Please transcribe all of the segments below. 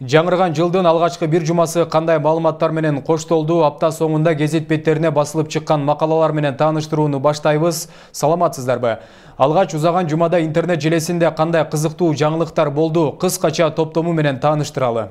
Жаңырган жылдын алгачкы бир жумасы кандай маалыматтар менен коштолду? Апта соңунда гезит беттерине басылып чыккан макалалар менен тааныштырууну баштайбыз. Саламатсыздарбы? Алгач узаган жумада интернет желесинде кандай кызыктуу жаңылыктар болду? Кыскача топтому менен тааныштыралы.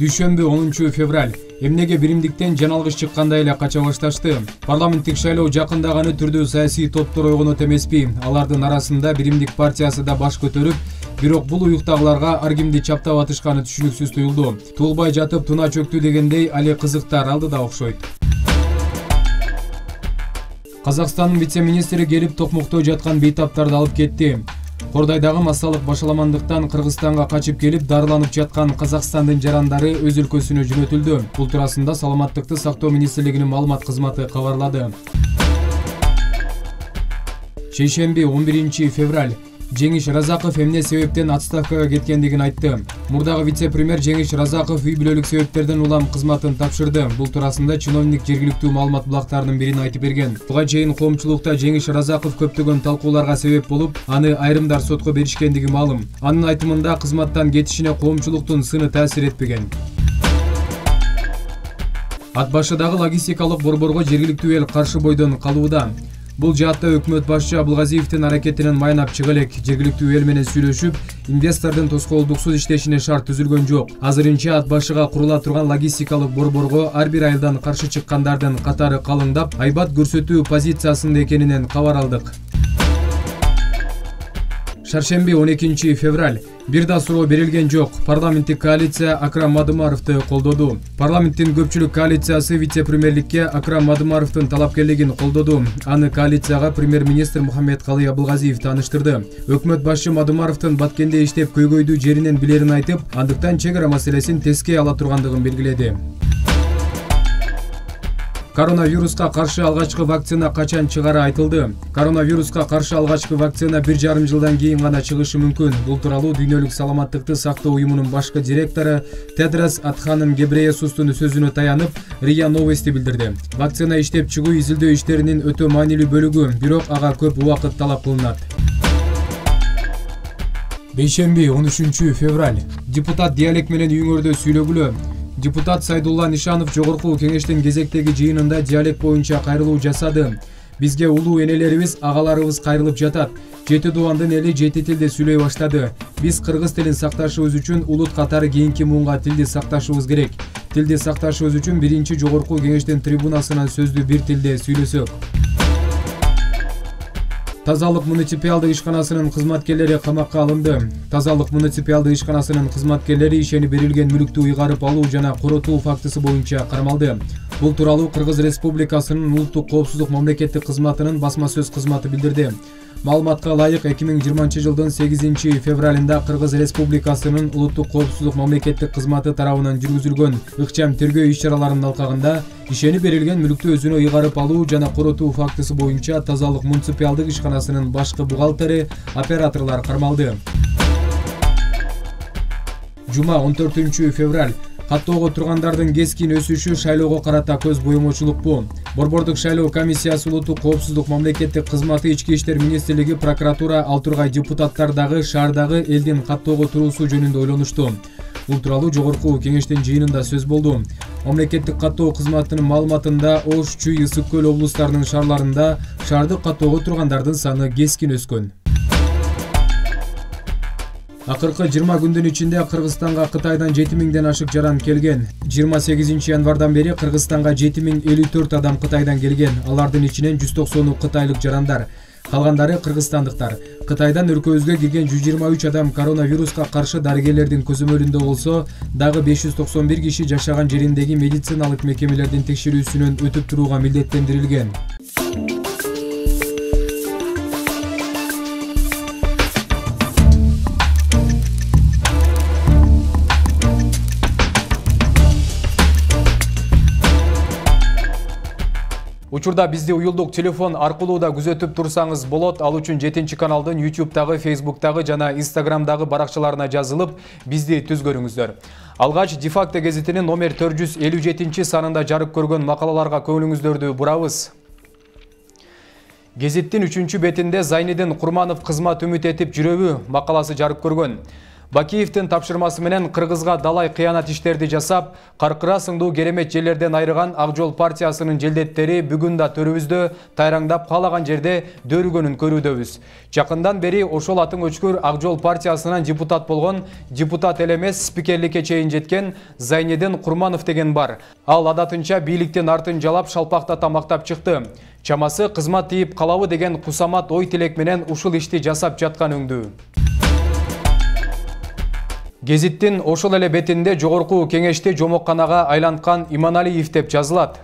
Дүйшөмбү 10 февраль. Эмнеге биримдиктен жаналгыш чыккандай эле кача башташты. Парламенттик шайлоо жакындаганы түрдүү саясий топтор ойгонот эмеспи. Алардын арасында Биримдик партиясы да баш көтөрүп, бирок бул уюктагыларга ар кимди чаптап атышканы түшүнүксүз туюлду. Туулбай жатып туна чөктү дегендей али кызыктар алдыда окшойт. Казакстандын вице-министри келип Токмокто жаткан бейтаптарды алып кетти. Кордайдагы массалык башаламандыктан Кыргызстанга качып келип дарыланып жаткан Казакстандын жарандары өз өлкөсүнө жөнөтүлдү. Бул туурасында Саламаттыкты сактоо министрлигинин маалымат кызматы кабарлады. Шейшемби 11 февраль. Жеңиш Разаков эмне себептен отставкага кеткендигин айтты. Мурдагы вице-премьер Жеңиш Разаков үй бүлөлүк себептерден улам кызматын тапшырды. Бул туурасында чиновник жергиликтүү маалымат булактарынын бирин айтып берген. Буга чейин коомчулукта Жеңиш Разаков көптөгөн талкууларга себеп болуп, аны айрымдар сотко беришкендиги маалым. Анын айтымында кызматтан кетишине коомчулуктун сыны таасир этпеген. Ат башыдагы логистикалык борборго жергиликтүү эл каршы бойдон калууда. Бул жаатта өкмөт башчы Абылгазиевдин аракетинен майнап чыга элек. Жергиликтүү эл менен сүйлөшүп, инвестордун тоскоолдуксуз иштешине шарт түзүлгөн жок. Азырынча ат башыга курула турган логистикалык борборго ар бир айылдан каршы чыккандардын катары калыңдап, айбат көрсөтүү позициясында экенинен кабар алдык. Шаршемби 12 февраль. Бир да суроо берилген жок. Парламенттик коалиция Акрам Мадымаровду колдоду. Парламенттин көпчүлүк коалициясы вице-премьерликке Акрам Мадымаровдун талапкерлигин колдоду. Аны коалицияга премьер-министр Мухаммедкалый Абылгазиев тааныштырды. Өкмөт башчы Мадымаровдун Баткенде иштеп көйгөйдүү жеринен билерин айтып, андыктан чек ара маселесин теске ала тургандыгын белгиледи. Коронавируска каршы алгачкы вакцина качан чыгары айтылды. Коронавируска каршы алгачкы вакцина 1,5 жылдан кийин гана чыгышы мүмкүн. Бул тууралуу Дүйнөлүк саламаттыкты сактоо уюмунун башкы директору Тедрос Адханом Гебрейесустун сөзүнө таянып, РИА Новости билдирди. Вакцина иштеп чыгуу изилдөө иштеринин өтө маанилүү бөлүгү, бирок ага көп убакыт талап кылынат. Бейшемби 13 февраль. Депутат диалект менен үйүңөрдө сүйлөгүлө. Депутат Сайдулла Нишанов жогорку кеңештин кезектеги жыйынында диалект боюнча кайрылуу жасады. Бизге улуу энелерибиз, агаларыбыз кайрылып жатат. Жети дубандын эли жети тилде сүйлөй баштады. Биз кыргыз тилин сакташыбыз үчүн улут катары кийинки муунга тилди сакташыбыз керек. Тилди сакташыбыз үчүн биринчи жогорку кеңештин трибунасынан сөздү бир тилде сүйлөсөк. Тазалык муниципиалдык ишканасынын кызматкерлери камакка алынды. Тазалык муниципиалдык ишканасынын кызматкерлери ишени берилген мүлүктү ыйгарып алуу жана коротуу фактысы боюнча кармалды. Бул тууралуу Кыргыз Республикасынын улуттук коопсуздук мамлекеттик кызматынын басма сөз кызматы билдирди. Маалыматка ылайык 2020 жылдын 8 февралында Кыргыз Республикасынын улуттук коопсуздук мамлекеттик кызматы тарабынан жүргүзүлгөн ыкчам тергөө иш-чараларынын алкагында ишени берилген мүлүктү өзүнө ыйгарып алуу жана коротуу фактысы боюнча тазалык муниципиалдык ишканасынын башкы бухгалтери, операторлор кармалды. Жума 14 февраль. Каттоого тургандардын кескин өсүшү шайлоого карата көз боемочулукпу. Борбордук шайлоо комиссиясы улуттук коопсуздук мамлекеттик кызматы, Ички иштер министрлиги, прокуратура, ал тургай депутаттардагы шаардагы элдин каттоого туруусу жөнүндө ойлонушту. Бул тууралуу жогорку кеңештин жыйынында сөз болду. Мамлекеттик каттоо кызматынын маалыматында Ош, Чүй, Ысык көл облустарынын шаарларында шаардык каттоого тургандардын саны кескин өскөн. Акыркы 20 күндүн ичинде Кыргызстанга Кытайдан 7000ден ашык жаран келген. 28 январдан бери Кыргызстанга 7054 адам Кытайдан келген. Алардын ичинен 190 кытайлык жарандар, калгандары кыргызстандыктар. Кытайдан өлкөбүзгө кирген 123 адам коронавируска каршы дарыгерлердин көзөмөлүндө болсо, дагы 591 киши жашаган жериндеги медициналык мекемелердин текшерүүсүнөн өтүп турууга милдеттендирилген. Учурда бизди уюлдук телефон аркылуу да күзөтүп турсаңыз болот. Ал үчүн 7 каналдын YouTube'дагы, Facebook'тагы жана Instagram'дагы баракчаларына жазылып, бизди түз көрүңүздөр. Алгач Дефакто гезитинин номер 457 санында жарык көргөн макалаларга көңүлүңүздөрдү бурабыз. Гезиттин 3 бетинде Зайнидин Курманов кызмат үмүт этип жүрөбү макаласы жарык көргөн. Бакиевдин тапшырмасы менен Кыргызга далай кыянат иштерди жасап, каркыра сыңдуу керемет жерлерден айрыган Ак Жол партиясынын желдеттери бүгүн да төрүбүздө тайраңдап каалаган жерде дөрүгөнүн көрүүдөбүз. Жакындан бери ошол атың өчкөр Ак Жол партиясынан депутат болгон, депутат эле эмес спикерликке чейин жеткен Зайнидин Курманов деген бар. Ал адатынча бийликтин артын жалап шалпактата мактап чыкты. Чамасы кызмат тийип калабы деген кусамат ой тилек менен ушул ишти жасап жаткан өңдүү. Гезиттин ошол эле бетинде жогорку кеңешти жомокканага айланткан Иманалиев деп жазылат.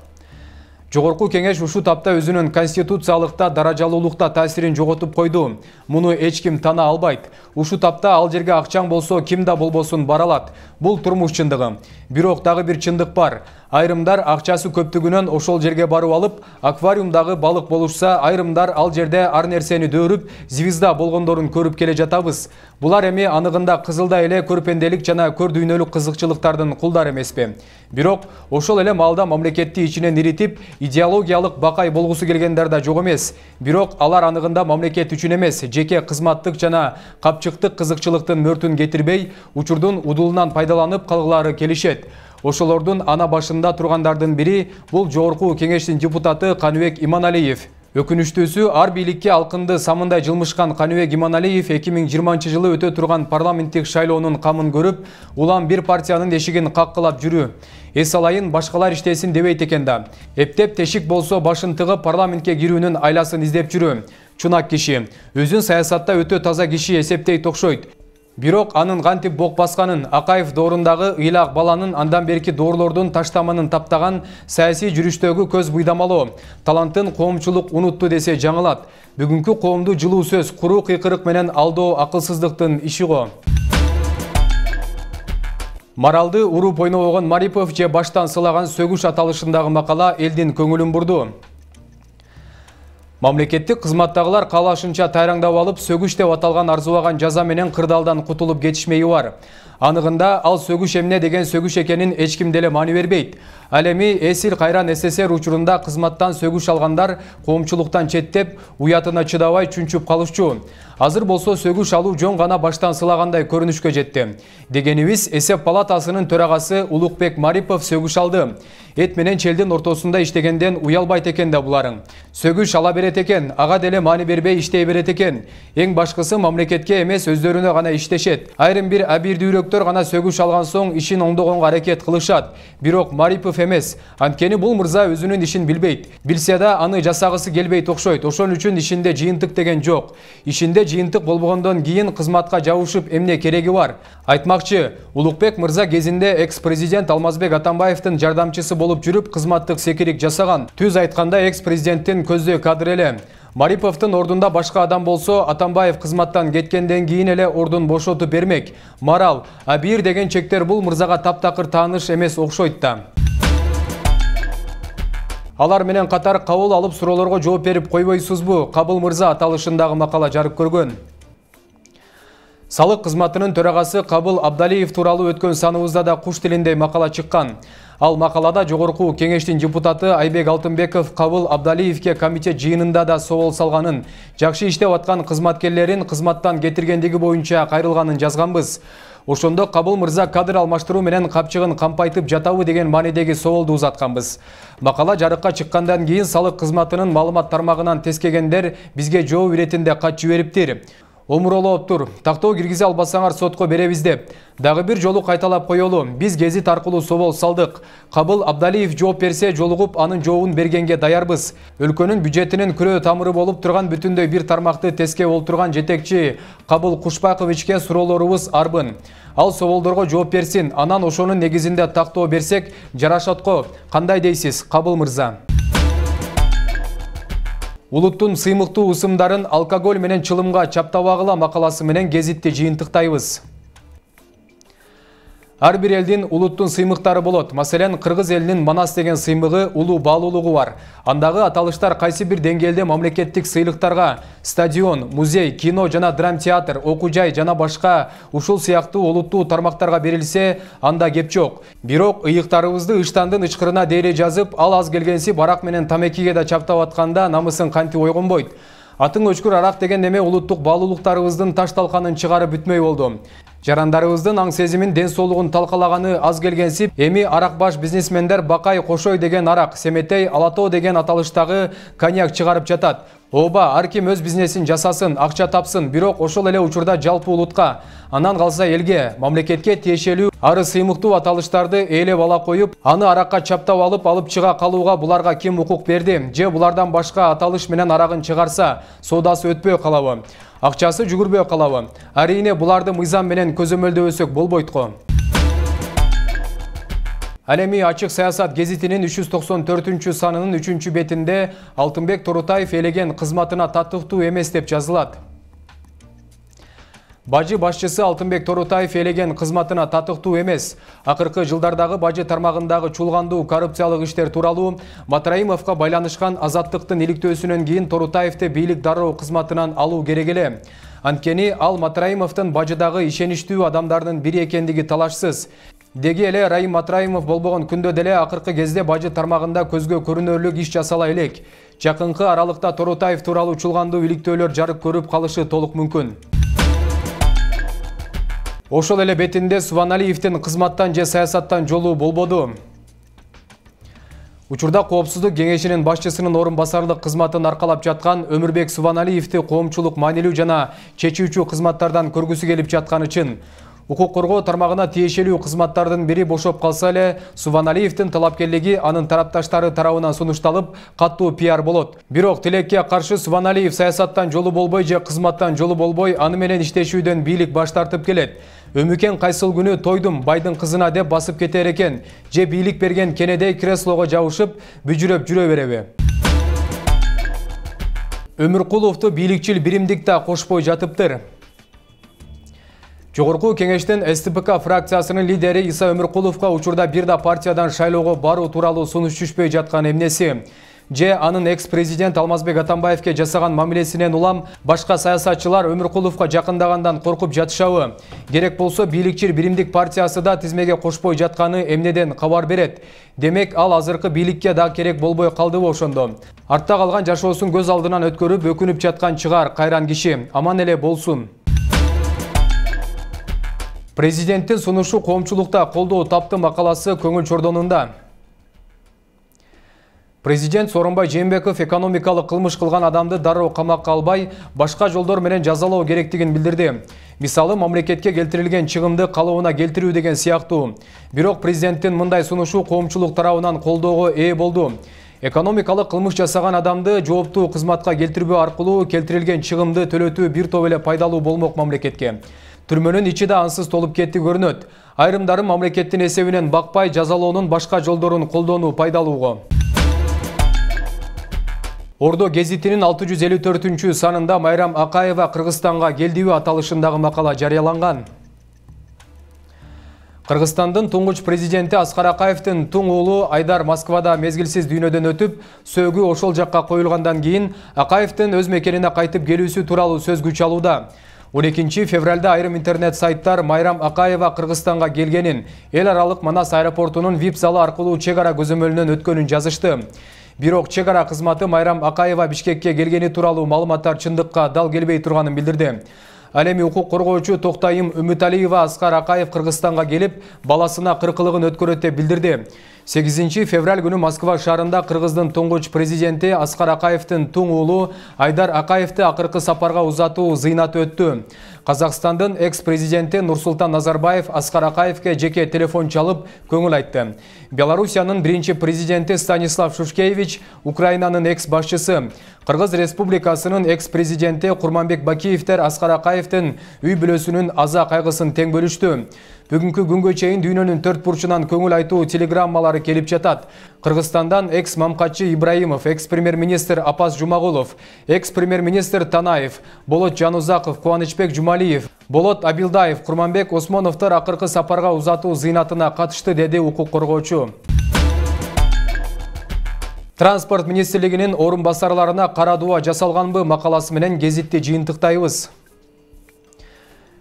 Жогорку кеңеш ушу тапта өзүнүн конституциялыкта даражалуулукта таасирин жоготуп койду. Муну эч ким тана албайт. Ушу тапта ал жерге акчаң болсо ким да болбосун бара алат. Бул турмуш чындыгы. Бирок дагы бир чындык бар. Айрымдар акчасы көптүгүнөн ошол жерге барып алып, аквариумдагы балык болушса, айрымдар ал жерде ар нерсени дөөрүп, звезда болгондорун көрүп келе жатабыз. Булар эми аныгында кызылдай эле көрпенделик жана көр дүйнөлүк кызыкчылыктардын кулдары эмеспи. Бирок ошол эле маалда мамлекетти ичинен иритип, идеологиялык бакай болгусу келгендер да жок эмес. Бирок алар аныгында мамлекет үчүн эмес, жеке кызматтык жана капчыктык кызыкчылыктын мөртүн кетирбей, учурдун удулунан пайдаланып калгылары келишет. Ошолордун ана башында тургандардын бири бул жогорку кеңештин депутаты Каныбек Иманалиев. Өкүнүчтүүсү, ар бийликке алкынды самындай жылмышкан Каныбек Иманалиев 2020 өтө турган парламенттик шайлоонун камын көрүп, улам бир партиянын эшигин каккылап жүрүү. Эс алайын, башкалар иштесин дебейт экен да. Эптеп тешик болсо башын тыгып парламентке кирүүнүн айласын издеп жүрүү. Чунак киши, өзүн саясатта өтө таза киши эсептейт окшойт. Бирок анын кантип бок басканын, Акаев доорундагы ыйлак баланын андан берки доорлордун таштаманын таптаган саясий жүрүштөгү көз буйдамалоо, талантын коомчулук унутту десе жаңылат. Бүгүнкү коомду жылуу сөз, куруу кыйкырык менен алдоо акылсыздыктын иши го. Маралды уруп ойнобогон Марипов же баштан сылаган сөгүш аталышындагы макала элдин көңүлүн бурду. Мамлекеттик кызматтагылар каалашынча тайраңдап алып, сөгүш деп аталган арзубаган жаза менен кырдаалдан кутулуп кетишмеyi бар. Аныгында ал сөгүш эмне деген сөгүш экенин эч ким деле маани бербейт. Ал эми эсил кайран СССР учурунда кызматтан сөгүш алгандар коомчулуктан четтеп, уятына чыдабай чүнчүп калышчу. Азыр болсо сөгүш алуу жон гана баштан сылагандай көрүнүшкө жетти. Дегенибиз, эсеп палатасынын төрагасы Улукбек Марипов сөгүш алды. Эт менен челдин ортосунда иштегенден уялбайт экен да буларың. Сөгүш ала берет экен, ага деле маани бербей иштей берет экен. Эң башкысы мамлекетке эмес өздөрүнө гана иштешет. Айрым бир абийирдүүлөктөр гана сөгүш алган соң ишин оңдогонго аракет кылышат. Бирок Марипов эмес. Анткени бул мырза өзүнүн ишин билбейт. Билсе да аны жасагысы келбейт окшойт. Ошон үчүн ишинде жыйынтык деген жок. Ишинде жыйынтык болбогондон кийин кызматка жабышып эмне кереги бар? Айтмакчы, Улукбек мырза кезинде экс-президент Алмазбек Атамбаевдин жардамчысы болуп жүрүп кызматтык секирик жасаган. Түз айтканда экс-президенттин көздөй кадр эле. Мариповдун ордунда башка адам болсо, Атамбаев кызматтан кеткенден кийин эле ордун бошотуп бермек. Марал, абийир деген чектер бул мырзага таптакыр тааныш эмес окшойт да. Алар менен катар кабыл алып суроолорго жооп берип койбойсузбу? Кабыл мырза аталышындагы макала жарык көргөн. Салык кызматынын төрагасы Кабыл Абдалиев тууралуу өткөн саныбызда да куш тилиндей макала чыккан. Ал макалада жогорку кеңештин депутаты Айбек Алтынбеков Кабыл Абдалиевке комитет жыйынында да соол салганын, жакшы иштеп аткан кызматкерлерин кызматтан кетиргендиги боюнча кайрылганын жазганбыз. Ошондо Кабыл мырза кадр алмаштыруу менен капчыгын кампайтып жатабы деген маанидеги соолду узатканбыз. Макала жарыкка чыккандан кийин салык кызматынын маалымат тармагынан тескегендер бизге жооп иретинде кат жибериптир. Омуролоп тур, тактоо киргизе албасаңар сотко беребиз деп. Дагы бир жолу кайталап коелу, биз гезит аркылуу соол салдык. Кабыл Абдалиев жооп берсе жолугуп анын жообун бергенге даярбыз. Өлкөнүн бюджетинин күрөө тамыры болуп турган бүтүндөй бир тармакты теске олтурган жетекчи Кабыл Кушпаковичке суроолорубуз арбын. Ал соолдорго жооп берсин, анан ошонун негизинде тактоо берсек жарашат го. Кандай дейсиз, Кабыл мырза? Улуттун сыймыктуу ысымдарын алкоголь менен чылымга чаптабагыла макаласы менен гезитти жыйынтыктайбыз. Ар бир элдин улуттун сыймыктары болот. Маселен, кыргыз элинин Манас деген сыймыгы улуу баалуулугу бар. Андагы аталыштар кайсы бир деңгээлде мамлекеттик сыйлыктарга стадион, музей, кино жана драм театр, окуу жай жана башка ушул сыяктуу олуттуу тармактарга берилсе, анда кеп жок. Бирок ыйыктарыбызды ыштандын ычкырына дейре жазып, ал аз келгенси барак менен тамекиге да чаптап атканда намысын канти ойгонбойт. Атың өчкүр арак деген неме улуттук баалуулуктарыбыздын таш талканын чыгарып бүтмөй болду. Жарандарыбыздын аң сезимин, ден соолугун талкалаганы аз келгенсип, эми аракбаш бизнесмендер Бакай Кошой деген арак, Семетей Алатоо деген аталыштагы коньяк чыгарып жатат. Ооба, ар ким өз бизнесин жасасын, акча тапсын, бирок ошол эле учурда жалпы улутка, андан калса элге, мамлекетке тиешелүү ары сыймыктуу аталыштарды ээлеп ала коюп, аны аракка чаптап алып чыга калууга буларга ким укук берди? Же булардан башка аталыш менен арагын чыгарса, соодасы өтпөй калабы? Акчасы жүгүрбөй калабы? Арийне буларды мыйзам менен көзөмөлдөбөсөк болбойт го. Ал эми Ачык саясат гезитинин 394 санынын 3 бетинде Алтынбек Торутаев элеген кызматына татыктуу эмес деп жазылат. Бажы башчысы Алтынбек Торутаев элеген кызматына татыктуу эмес. Акыркы жылдардагы бажы тармагындагы чуулгандуу коррупциялык иштер тууралуу Матраимовго байланышкан азаттыктын иликтөөсүнөн кийин Торутаевди бийлик дароо кызматынан алуу керек эле. Анткени ал Матраимовдун бажыдагы ишеничтүү адамдардын бири экендиги талашсыз. Деги эле Райым Матраимов болбогон күндө деле акыркы кезде бажы тармагында көзгө көрүнөрлүк иш жасала элек. Жакынкы аралыкта Торутаев тууралуу чуулгандуу иликтөөлөр жарык көрүп калышы толук мүмкүн. Ошол эле бетинде Субаналиевдин кызматтан же саясаттан жолу болбоду. Учурда Коопсуздук кеңешинин башчысынын орун басарлык кызматын аркалап жаткан Өмүрбек Субаналиевди коомчулук маанилүү жана чечүүчү кызматтардан көргүсү келип жатканы чын. Укук коргоо тармагына тиешелүү кызматтардын бири бошоп калса эле, Субаналиевдин талапкерлиги анын тарапташтары тарабынан сунушталып, каттуу пиар болот. Бирок тилекке каршы Субаналиев саясаттан жолу болбой же кызматтан жолу болбой, аны менен иштешүүдөн бийлик баш тартып келет. Өмүкен кайсыл күнү тойдум байдын кызына деп басып кетер экен, же бийлик берген кенедей креслого жабышып, бүжүрөп жүрө береби? Өмүркуловду бийликчил биримдик да кошпой жатыптыр. Жогорку кеңештин СТПК фракциясынын лидери Иса Өмүркуловго учурда бир да партиядан шайлоого баруу тууралуу сунуш түшпөй жаткан эмнеси? Же анын экс-президент Алмазбек Атамбаевке жасаган мамилесинен улам башка саясатчылар Өмүркуловго жакындагандан коркуп жатышабы? Керек болсо бийликчил биримдик партиясы да тизмеге кошпой жатканы эмнеден кабар берет? Демек ал азыркы бийликке да керек болбой калдыбы ошондо? Артта калган жашоосун көз алдынан өткөрүп өкүнүп жаткан чыгар кайран киши. Аман эле болсун. Президенттин сунушу коомчулукта колдоо тапты макаласы көңүл чордонунда. Президент Сооронбай Жээнбеков экономикалык кылмыш кылган адамды дароо камакка албай, башка жолдор менен жазалоо керектигин билдирди. Мисалы, мамлекетке келтирилген чыгымды калыбына келтирүү деген сыяктуу. Бирок президенттин мындай сунушу коомчулук тарабынан колдоого ээ болду. Экономикалык кылмыш жасаган адамды жооптуу кызматка келтирбөө аркылуу келтирилген чыгымды төлөтүү бир топ эле пайдалуу болмок мамлекетке. Түрмөнүн ичи да ансыз толуп кетти көрүнөт. Айрымдары мамлекеттин эсебинен бакпай жазалоонун башка жолдорун колдонуу пайдалууго. Ордо гезитинин 654 санында Майрам Акаева Кыргызстанга келдиби аталышындагы макала жарыяланган. Кыргызстандын туңгуч президенти Аскар Акаевдин туң уулу Айдар Москвада мезгилсиз дүйнөдөн өтүп, сөөгү ошол жакка коюлгандан кийин Акаевдин өз мекенине кайтып келүүсү тууралуу сөз күч алууда. 12 февралда айрым интернет сайттар Майрам Акаева Кыргызстанга келгенин, эл аралык Манас аэропортунун VIP залы аркылуу чек ара көзөмөлүнөн өткөнүн жазышты. Бирок чек ара кызматы Майрам Акаева Бишкекке келгени тууралуу маалыматтар чындыкка дал келбей турганын билдирди. Ал эми укук коргоочу Токтайым Үмүталиева Аскар Акаев Кыргызстанга келип, баласына кыркылыгын өткөрөт деп билдирди. 8 февраль күнү Москва шаарында Кыргыздын туңгуч президенти Аскар Акаевдин туң уулу Айдар Акаевди акыркы сапарга узатуу зыйнаты өттү. Казакстандын экс-президенти Нурсултан Назарбаев Аскар Акаевге жеке телефон чалып көңүл айтты. Белоруссиянын биринчи президенти Станислав Шушкевич, Украинанын экс-башчысы, Кыргыз Республикасынын экс-президенти Курманбек Бакиевдер Аскар Акаевдин үй бүлөсүнүн аза кайгысын тең бөлүштү. Бүгүнкү күнгө чейин дүйнөнүн 4 бурчунан көңүл айтуу телеграммалары келип жатат. Кыргызстандан экс-мамкатчы Ибраимов, экс-премьер-министр Апас Жумагулов, экс-премьер-министр Танаев, Болот Жанузаков, Кубанычбек Жумалиев, Болот Абилдаев, Курманбек Осмоновдор акыркы сапарга узатуу зыйнатына катышты, деди укук коргоочу. Транспорт министрлигинин орун басарларына кара дуба жасалганбы макаласы менен гезитти жыйынтыктайбыз.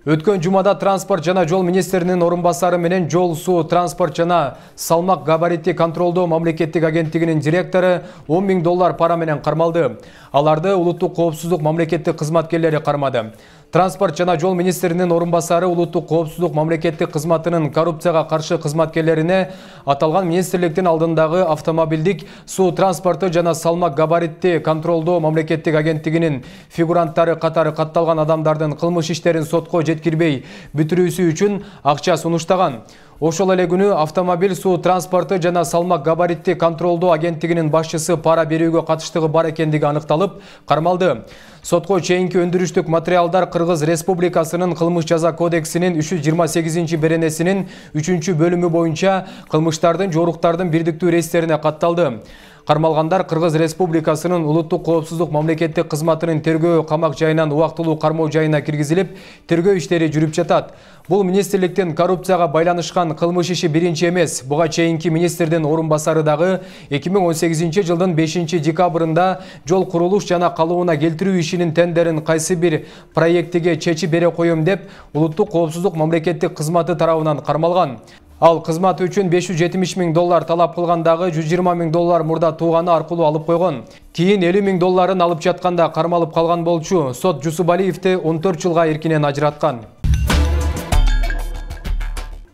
Өткөн жумада транспорт жана жол министринин орун басары менен жол, суу, транспорт жана салмак габаритти контролдоо мамлекеттик агенттигинин директору $10 000 пара менен кармалды. Аларды улуттук коопсуздук мамлекеттик кызматкерлери кармады. Транспорт жана жол министринин орун басары улуттук коопсуздук мамлекеттик кызматынын коррупцияга каршы кызматкерлерине аталган министрликтин алдындагы автомобилдик, суу транспорту жана салмак габаритти контролдоо мамлекеттик агенттигинин фигуранттары катары катталган адамдардын кылмыш иштерин сотко жеткирбей бүтүрүүсү үчүн акча сунуштаган. Ошол эле күнү автомобиль, суу транспорту жана салмак габаритти контролдоо агенттигинин башчысы пара берүүгө катыштыгы бар экендиги аныкталып, кармалды. Сотко чейинки өндүрүштүк материалдар Кыргыз Республикасынын кылмыш жаза кодексинин 328-беренесинин 3-бөлүмү боюнча кылмыштардын жоруктардын бирдиктүү реестрине катталды. Кармалгандар Кыргыз Республикасынын улуттук коопсуздук мамлекеттик кызматынын тергөө камак жайынан убактылуу кармоо жайына киргизилип, тергөө иштери жүрүп жатат. Бул министрликтин коррупцияга байланышкан кылмыш иши биринчи эмес. Буга чейинки министрдин орун басары дагы 2018-жылдын 5-декабрында жол курулуш жана калыбына келтирүү ишинин тендерин кайсы бир проектиге чечип бере коем деп улуттук коопсуздук мамлекеттик кызматы тарабынан кармалган. Ал кызмат үчүн $570 000 талап кылгандагы $120 000 мурда тууганы аркылуу алып койгон. Кийин $50 000 алып жатканда кармалып калган болчу. Сот Жусубалиевди 14 жылга эркинен ажыраткан.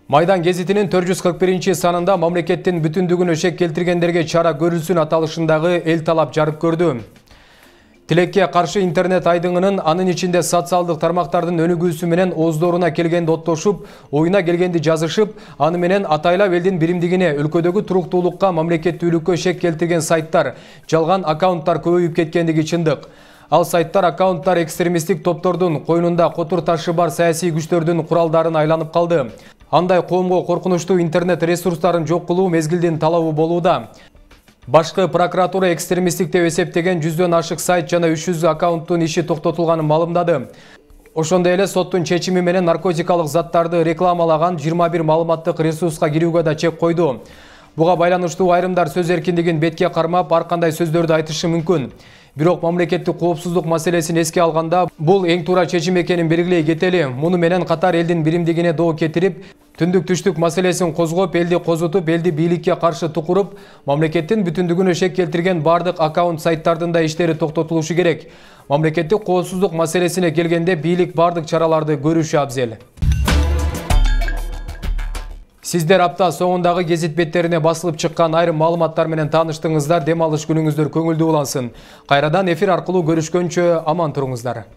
Майдан гезитинин 441-санында мамлекеттин бүтүндүгүнө шек келтиргендерге чара көрүлсүн аталышындагы эл талап жарык көрдү. Тилекке каршы интернет айдыңынын анын ичинде социалдык тармактардын өнүгүүсү менен ооздоруна келгенди оттошуп, оюна келгенди жазышып, аны менен атайлап элдин биримдигине, өлкөдөгү туруктуулукка, мамлекеттүүлүккө шек келтирген сайттар, жалган аккаунттар көбөйүп кеткендиги чындык. Ал сайттар, аккаунттар экстремисттик топтордун койнунда котур ташы бар саясий күчтөрдүн куралдарын айланып калды. Андай коомго коркунучтуу интернет ресурстарын жок кылуу мезгилдин талабы болууда. Башкы прокуратура экстремисттик деп эсептеген 100дөн ашык сайт жана 300 аккаунттун иши токтотулганын маалымдады. Ошондой эле соттун чечими менен наркотикалык заттарды рекламалаган 21 маалыматтык ресурска кирүүгө да чек койду. Буга байланыштуу айрымдар сөз эркиндигин бетке кармап, ар кандай сөздөрдү айтышы мүмкүн. Бирок мамлекеттик коопсуздук маселесин эске алганда, бул эң туура чечим экенин белгилей кетели. Муну менен катар элдин биримдигине доо кетирип, түндүк-түштүк маселесин козгоп, элди козутуп, элди бийликке каршы тукуруп, мамлекеттин бүтүндүгүнө шек келтирген бардык аккаунт сайттардын да иштери токтотулушу керек. Мамлекеттик коопсуздук маселесине келгенде бийлик бардык чараларды көрүшү абзел. Сиздер апта соңундагы гезит беттерине басылып чыккан айрым маалыматтар менен тааныштыңыздар. Дем алыш күнүңүздөр көңүлдүү улансын. Кайрадан эфир аркылуу көрүшкөнчө аман туруңуздар.